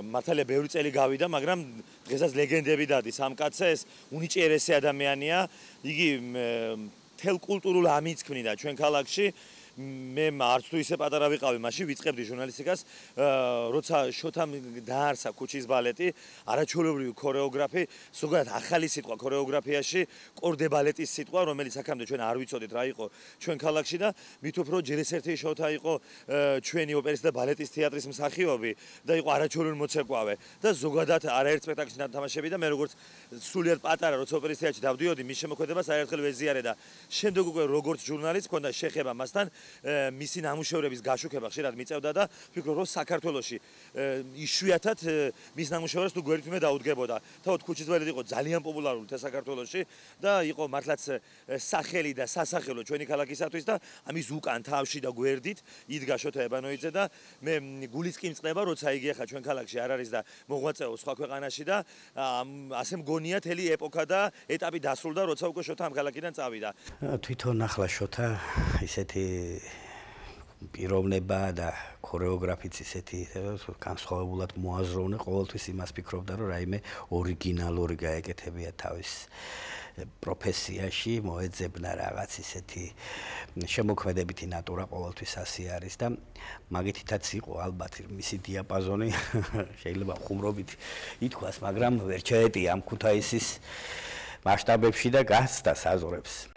მართალია ბევრი წელი გავიდა, მაგრამ დღესაც ლეგენდები დადის ამ კაცზე, ეს უნიჭიერესი ადამიანია. იგი მთელ კულტურულ ამის ქმნიდა ჩვენ ქალაქში. მე არც თუ ისე პატარა ვიყავი, მაშინ ვიწყებდი ჟურნალისტიკას, როცა შოთამ დაარსა ქუჩის ბალეტი, არაჩვეულებრივი ქორეოგრაფი, ზოგადად ახალი სიტყვა ქორეოგრაფიაში, კორდე ბალეტის სიტყვა, რომელიც აქამდე ჩვენ არ ვიცოდით რა იყო ჩვენ ქალაქში და მით უფრო ჯერ ეს ერთი შოთა იყო ჩვენი ოპერის და ბალეტის თეატრის მსახიობი და იყო არაჩვეულებრივი მოცეკვავე და ზოგადად არაერთ სპექტაკლში ნათამაშები და მე როგორც სულიად პატარა როცა ოპერის თეატრში დავდიოდი, მის შემოქმედებას არაერთხელ ვეზიარე და შემდეგ უკვე როგორც ჟურნალისტ მქონდა შეხება მასთან მისი ნამუშევრების გაშუქება ხშირად მიწევდა და ვფიქრობ რომ საქართველოში იშვიათად მის ნამუშევრებს თუ გვერდით მე დაუდგებოდა. თავად ქუჩის ბალეტი იყო ძალიან პოპულარული საქართველოში და იყო მართლაც სახელი და სასახელო ჩვენი ქალაქისათვის და ამის უკან თავში და გვერდით იდგა შოთა ებანოიძე და მე გულის კი მწყდება როცა იგი ახლა ჩვენ ქალაქში არ არის და მოღვაწეობს სხვა ქვეყანაში და ასე მგონია თელი ეპოქა და ეტაპი დასრულდა როცა უკვე შოთა ამ ქალაქიდან წავიდა. თვითონ ახლა შოთა ისეთი პიროვნება და ქორეოგრაფიც ისეთი განსხვავებულად მოაზროვნე, ყოველთვის იმას ფიქრობდა, რომ რაიმე ორიგინალური გაეკეთებია თავის პროფესიაში, მოეძებნა რაღაც ისეთი შემოქმედებითი ნატურა ყოველთვის ასე არის და მაგითაც იყო ალბათ მისი დიაპაზონი შეიძლება ხუმრობით ითქვას, მაგრამ ვერ ჩაეტია ამ ქუთაისის მასშტაბებში და გასცდა საზღვრებს.